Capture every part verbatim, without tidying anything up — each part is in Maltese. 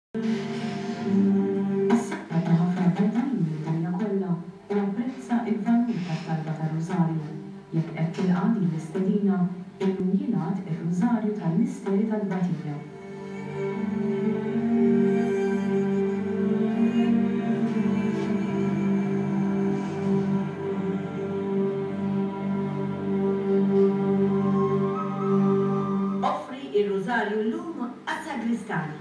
Issa ta' ħafna bnedmin mid-dinja kollha u apprezza l-valur tat-talba tar-Rużarju. Jekk qed tilqa' din l-istedina, illum jingħad ir-Rużarju tal-Misteri tat-Tbatija. Offri r-Rużarju llum għas-sagristani.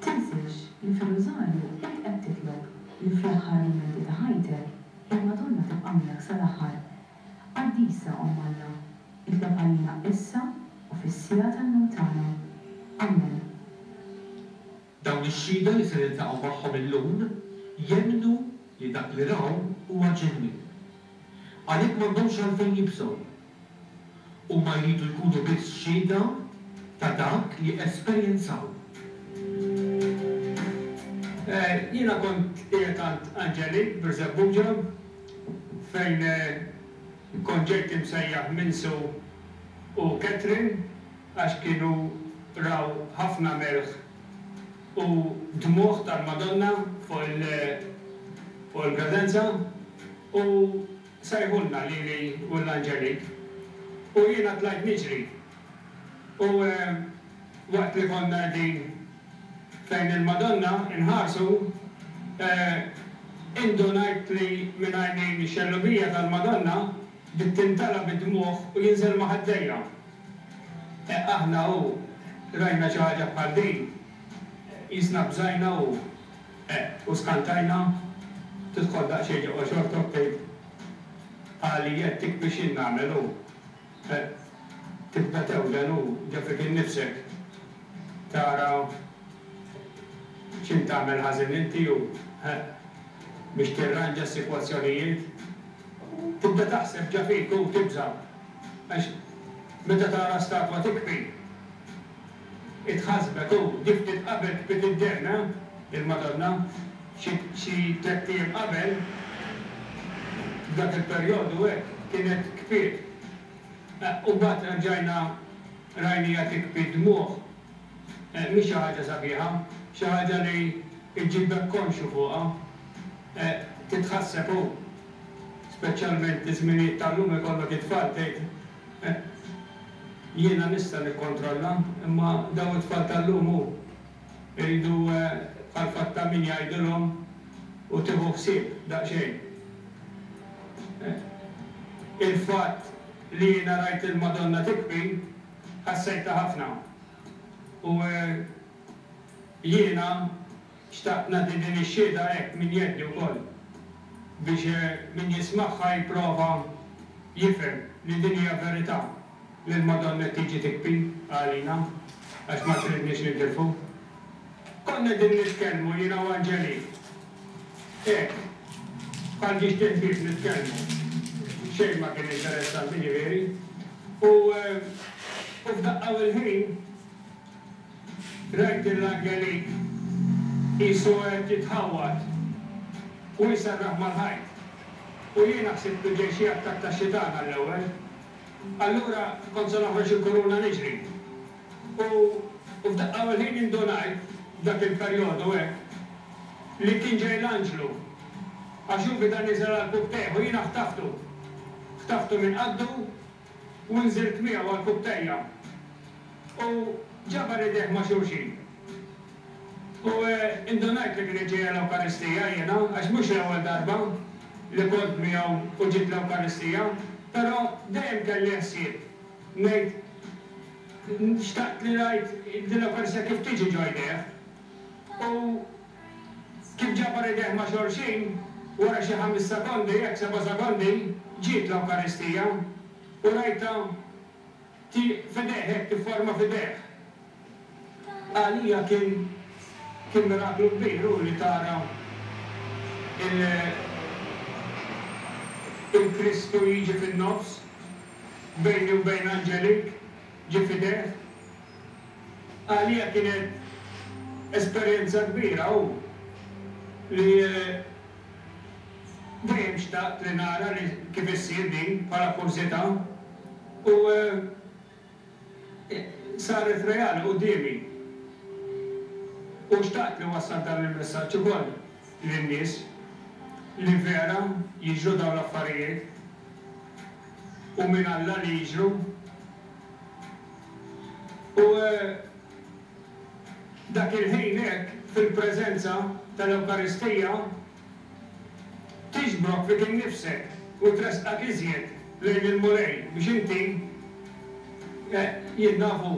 Tinsiex li fir-Rużarju int qed titlob li fl-aħħar mumenti ta' ħajtek, il-Madonna tibqa' miegħek sal-aħħar. Qaddisa Omm Alla, itlob għalina issa u fis-siegħa tal-mewt tagħna. Amen. Dawn ix-xhieda li se niltaqgħu magħhom illum jemmnu li dak li raw huwa ġenwin. Għalhekk m'għandhomx għalfejn jibżgħu. Huma jridu jkunu biss xhieda ta' dak li esperjenzaw. Jiena kont qiegħed għand Angelique Birżebbuġa fejn kont ġejt imsejjaħ minn Sue u Catherine għax kienu raw ħafna melħ u dmugħ tal-Madonna fuq il-gradenza u sejħulna lili u l-Angelique u jiena tlajt niġri u waqt li konna qegħdin fejn il-Madonna inħarsu, indunajt li minn għajnejn ix-xellugija tal-Madonna bdiet tintala bid-dmugħ u jinżel ma' ħaddejja. Aħna u rajna xi ħaġa bħal din, qisna bżajna u u skantajna, tidħol daqsxejn ġewwa xortok tgħid għalija tikbi x'jien nagħmel u tibda tewden u ġa fik innifsek tara x'int tagħmel ħażin inti u biex tirranġa s-sitwazzjonijiet. Tibda taħseb ġa fik u tibża' għax meta tara statwa tikbi itħassbek u di ftit qabel kbiet id-demm, il-Madonna, xi tlett ijiem qabel f'dak il-perjodu hekk kienet kbiet. U mbagħad rġajna rajniha tikbi d-dmugħ. Mhix xi ħaġa sabiħa, xi ħaġa li ġġibek konxju fuqha, titħasseb u speċjalment iż-żminijiet tal-lum ikollok it-tfal tgħid jiena nista' nikkontrolla, imma dawn it-tfal tal-lum hu jridu bħal fatt ta' min jgħidilhom u tieħu ħsieb daqsxejn. Il-fatt li jiena rajt il-Madonna tikbi ħassejtha ħafna. U jiena xtaqt nagħti din ix-xhieda hekk minn jeddi wkoll biex min jismagħha jipprova jifhem li din hija verità li l-Madonna qed tiġi tikbi għalina għax ma tridniex nintilfu. Konna qegħdin nitkellmu jiena u Angelique. Hekk, bħal ġiex tinħbieb nitkellmu. Xejn ma kien interessanti ġifieri. U f'daqqa u l-ħin rajt l-Angelique qisu qed jitħawwad u jserraħ mal-ħajt. U jiena ħsibtu ġej xi attakk tax-xitan għall-ewwel. Allura kont se noħroġ il-kuruna niġri. U f'daqqa u l-ħin indunajt f'dak il-perjodu hekk li kien ġej l-anġlu. Għax hu beda niżel għall-kubtejh u jiena ħtaftu. Ħtaftu minn qaddu u nżilt miegħu għall-kubtejja. U ġabar idejh ma' xulxin. U indunajt li kienet ġejja l-Ewkaristija jiena, għax mhux l-ewwel darba li kont miegħu u ġiet l-Ewkaristija, però dejjem kelli ħsieb ngħid xtaqt li rajt din l-Ewkaristija kif tiġi ġo jdejh. U kif ġabar idejh ma' xulxin, wara xi ħames sekondi, hekk seba' sekondi, ġiet l-Ewkaristija u rajtha f'idejh hekk tifforma f'idejh. Għalija kien kien miraklu kbir hu li tara il-Kristu jiġi fin-nofs bejni u bejn Angelique ġie f'idejh. Għalija kienet esperjenza kbira hu li dejjem xtaqt li nara li kif issir din bħala kurżità u saret reali quddiemi. U xtaqt li wassal dan il-messaġġ ukoll lin-nies li vera jiġru dawn l-affarijiet u minn Alla li jiġru. U dak il-ħin hekk fil-preżenza tal-Ewkaristija tiġbrok fik innifsek u tressqak iżjed lejn il-Mulej biex inti jien nafu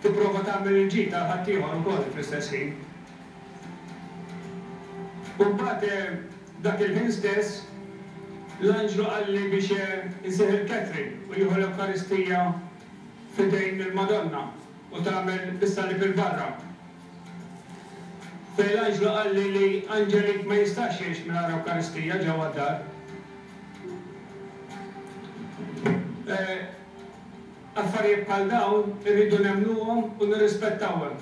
tipprova tagħmel il-ġid għal ħaddieħor ukoll fl-istess ħin. U mbagħad dak il-ħin stess l-anġlu qalli biex insejħ il-Catherine u jieħu l-Ewkaristija f'idejn il-Madonna u tagħmel is-salib il-barra. Fejn l-anġlu qalli li Angelique ma jistax jgħix mingħajr Ewkaristija ġewwa d-dar. Affarijiet bħal dawn irridu nemmnuhom u nirrispettawhom.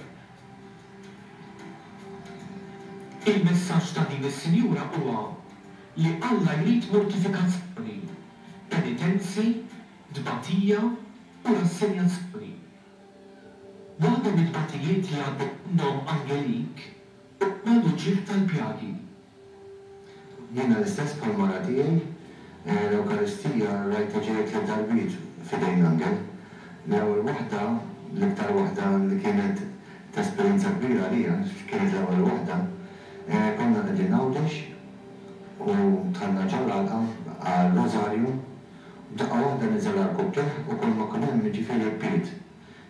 Il-messaġġ ta' din is-sinjura huwa li Alla jrid mortifikazzjoni, penitenzi, tbatija u rassenjazzjoni. Waħda mit-tbatijiet li għaddew minnhom Angelique huma l-uġigħ tal-pjagi. Jiena l-istess bħall-mara tiegħi, l-Ewkaristija rajtha ġejja tliet darbiet f'idejn l-Angel. L-ewwel waħda, l-iktar waħda li kienet ta' esperjenza kbira għalija, kienet l-ewwel waħda, konna qegħdin Għawdex u dħalna ġol-għalqa għal-Rożarju, daqqa waħda niżel għall-kubtejh u kull ma kien hemm jiġifieri bpiet.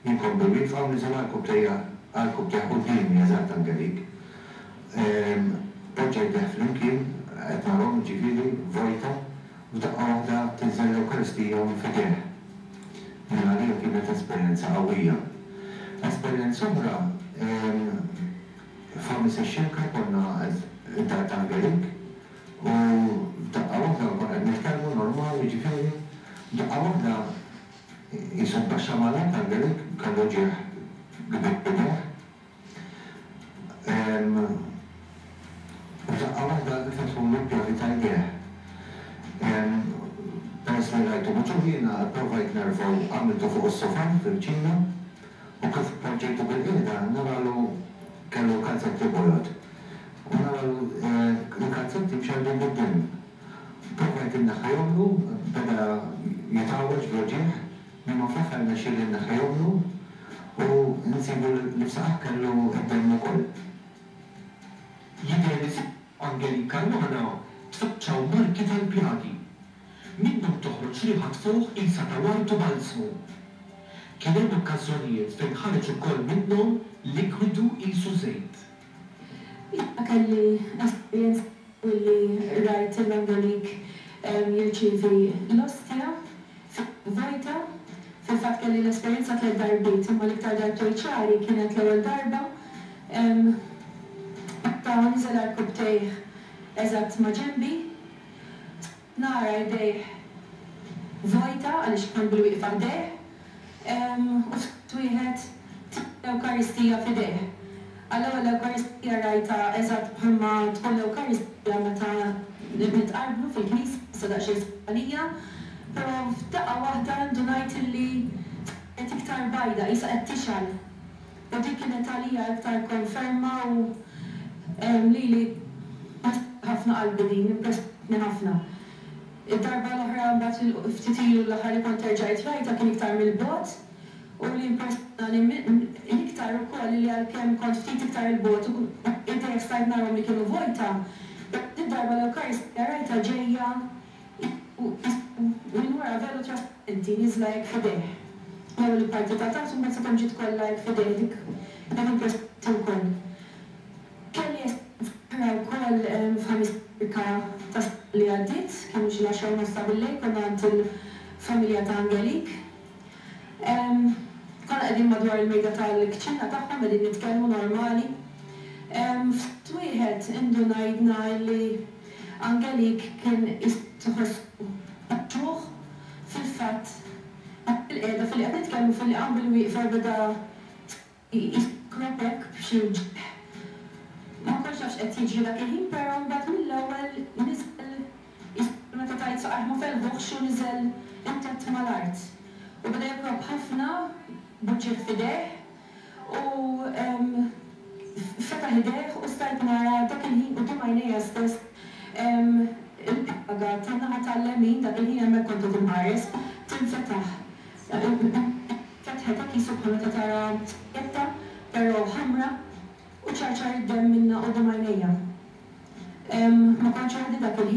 Jien kont bil-wieqfa u niżel għall-kubtejja għall-kubtejh quddiemi eżatt Angelique. Poġġa jdejh flimkien, qed narahom jiġifieri vojta, u f'daqqa waħda tinżel l-Ewkaristija f'idejh. Jien għalija kienet esperjenza qawwija. Esperjenza oħra, f'Ħamis ix-Xirka konna id-dar ta' Angelique u f'daqqa waħda konna qed nitkellmu normal jiġifieri, f'daqqa waħda qisu tbaxxa mal-art Angelique kellu ġieħ kbir f'idejh. U f'daqqa waħda nfetħulu l-pjavi ta' jdejh. Peress li rajtu muġugħ jiena pprovajt nerfgħu għamiltu fuq is-sofà fil-kċina u kif poġġejtu bil-qiegħda naralu kellu kalzetti bojod u naralu l-kalzetti mxerrdin bid-demm. Provajt inneħħejhomlu, beda jitgħawweġ bl-uġigħ, imma fl-aħħar rnexxieli nneħħejhomlu u nsibu li f'saqajh kellu d-demm ukoll. Jidher li fuq Angelique Caruana tfaċċaw marki tal-pjagi. Minnhom toħroġ riħa tfuħ qisha ta' ward u balzmu. Kien hemm okkażjonijiet fejn ħareġ ukoll minnhom likwidu qisu żejt. Jiena kelli esperjenza billi rajt lil Angelique jirċievi l-ostja vojta. Fil-fatt kelli l-esperjenza tliet darbiet, imma l-iktar darbtejn ċari kienet l-ewwel darba meta niżel għarkupptejh eżatt ma' ġenbi. Nara jdejh vojta għaliex kont bil-wieqfa ħdejh u ftit wieħed l-Ewkaristija f'idejh. Għall-ewwel l-Ewkaristija rajtha eżatt bħalma tkun l-Ewkaristija meta nitqarbnu fil-knisja, issa daqsxejn għalija, però f'daqqa waħda ndunajt illi kienet iktar bajda, qisha qed tixgħel. U dik kienet għalija iktar konferma u lili ħafna qalbi din, impressjonatni ħafna. Id-darba l-oħra mbagħad ftit ilu l-aħħar li kont erġajt rajtha kien iktar mill-bogħod u li impressjonani l-iktar ukoll li għalkemm kont ftit iktar il-bogħod u idejh stajt narahom li kienu vojta, id-darba l-Ewkaristija rajtha ġejja minn wara velu trasparenti nieżla hekk f'idejh. L-ewwel il-parti ta' taħt u mbagħad sakemm ġiet kollha hekk f'idejh dik kienet impressjonanti wkoll. Kelli esperjenza oħra wkoll f'Ħamis Xirka tas-sena li għaddiet, kienu xi l-għaxra u nofs ta' billejl, konna għand il-familja ta' Angelique. Konna qegħdin madwar il-mejda tal-kċina tagħhom qegħdin nitkellmu normali. Ftit wieħed indunajna li Angelique kien iħossu ġuħ fil-fatt fil-qiegħda filli qed nitkellmu filli qam bil-wieqfa beda jkrob hekk b'xi wġigħ. Ma kontx naf x'qed jiġri dak il-ħin, però mbagħad mill-ewwel niżel meta tgħid saqajh ma felħuhx u niżel imtedd mal-art. U beda jokrob ħafna b'uġigħ f'idejh u Fetaħ idejh u stajt nara dak il-ħin quddiem għajnejja stess il-pjaga tan-naħa tal-lemin, dak il-ħin hemmhekk kont qed inħares, tinfetaħ. Fetħet hekk qisu bħal meta tara tikketta, però ħamra, u ċarċar id-demm minnha quddiem għajnejja. Ma kontx waħdi dak il-ħin.